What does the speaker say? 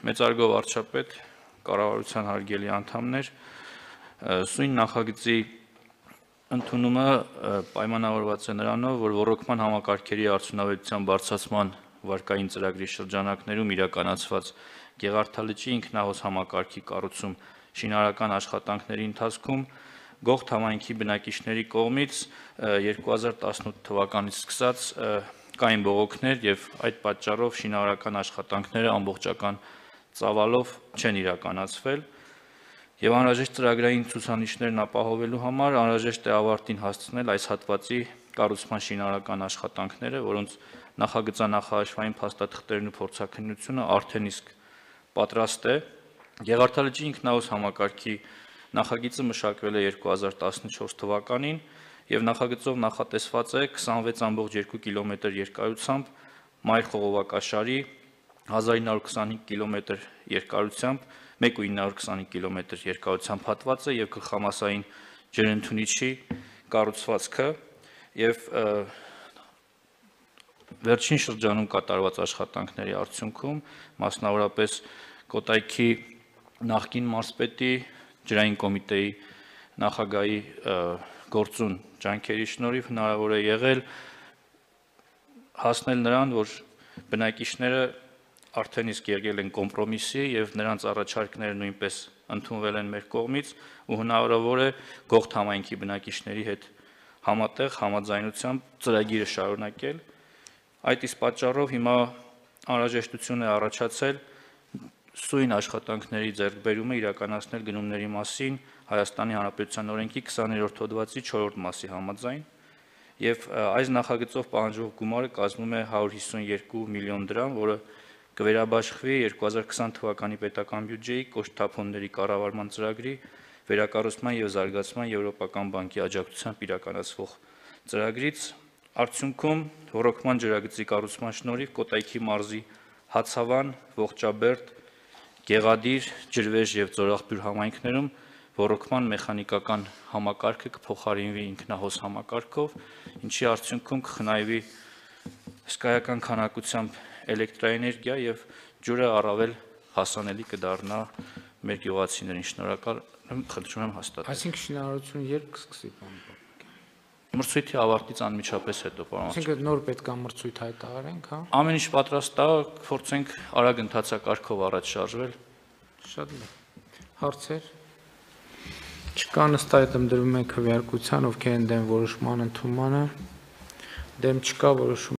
մեծարգո վարչապետ, կառավարության հարգելի անդամներ, սույն նախագծի ընդունումը պայմանավորված է նրանով, որ ոռոգման համակարգերի արդյունավետության բարձրացման վարկային ծրագրի շրջանակներում իրականացված Գեղարդալճի ինքնահոս համակարգի կառուցում շինարարական աշխատանքների ընթացքում Գողթ համայնքի բնակիչների կողմից 2018 թվականից սկսած կային բողոքներ եւ այդ պատճառով շինարարական աշխատանքները ամբողջական ծավալով չեն իրականացվել եւ անհրաժեշտ ծրագրային ցուցանիշներն ապահովելու համար անհրաժեշտ է ավարտին հասցնել այս հատվածի կառուցման շինարարական աշխատանքները, որոնց նախագծանախահաշվային փաստաթղթերն ու փորձաքննությունը արդեն իսկ պատրաստ է։ Գեղարդալճի ինքնահոս համակարգի նախագիծը մշակվել է 2014 թվականին եւ նախագծով նախատեսված է 26.2 կիլոմետր երկարությամբ մայր խողովակաշարի 1925 կիլոմետր երկարությամբ 1.925 կիլոմետր երկարությամբ հատվածը եւ գլխամասային ջրընդունիչի կառուցվածքը եւ վերջին շրջանում կատարված աշխատանքների արդյունքում մասնավորապես Կոտայքի նախկին մարզպետի ջրային կոմիտեի նախագահի գործուն ջանքերի շնորհիվ հնարավոր է եղել հասնել նրան, որ բնակիչները արդեն իսկ եկել են կոմպրոմիսի եւ նրանց առաջարկները նույնպես ընդունվել են մեր կողմից ու հնարավոր է Գողթ համայնքի բնակիչների հետ համատեղ համաձայնությամբ ծրագիրը շարունակել։ Այդ իսկ պատճառով հիմա անհրաժեշտություն է առաջացել սույն աշխատանքների ձեռքբերումը իրականացնել գնումների մասին Հայաստանի Հանրապետության օրենքի 20-րդ հոդվածի 4-րդ մասի համաձայն եւ այս նախագծով պահանջվող գումարը կազմում է 152 միլիոն դրամ, որը կվերաբաշխվի 2020 թվականի պետական բյուջեի կոշտ-թափոնների կառավարման ծրագրի վերակառուցման եւ զարգացման եվրոպական բանկի աջակցությամբ իրականացվող ծրագրից արդյունքում ոռոգման ջրագծի կառուցման շնորհիվ Կոտայքի մարզի Հացավան, Ողջաբերդ, Գեղադիր, Ջրվեժ եւ Ձորախբյուր համայնքներում ոռոգման մեխանիկական համակարգը կփոխարինվի ինքնահոս համակարգով, ինչի արդյունքում կխնայվի հսկայական քանակությամբ էլեկտրաէներգիա եւ ջուրը առավել հասանելի կդառնա մեր գյուղացիներին։ Շնորհակալ եմ, խնդրում եմ հաստատել։ Այսինքն շինարարությունը երբ կսկսի, պարոն Պապիկյան։ Մրցույթի ավարտից անմիջապես հետո, պարոն։ Այսինքն նոր պետք է մրցույթ հայտարարենք, հա։ Ամեն ինչ պատրաստ է, փորձենք արագ ընթացակարգով առաջ շարժվել։ Շատ լավ։ Հարցեր։ Չկա, ըստ այդմ դրվում է քվեարկության, ովքեր են դեմ որոշման ընդունմանը։ Դեմ չկա, որոշում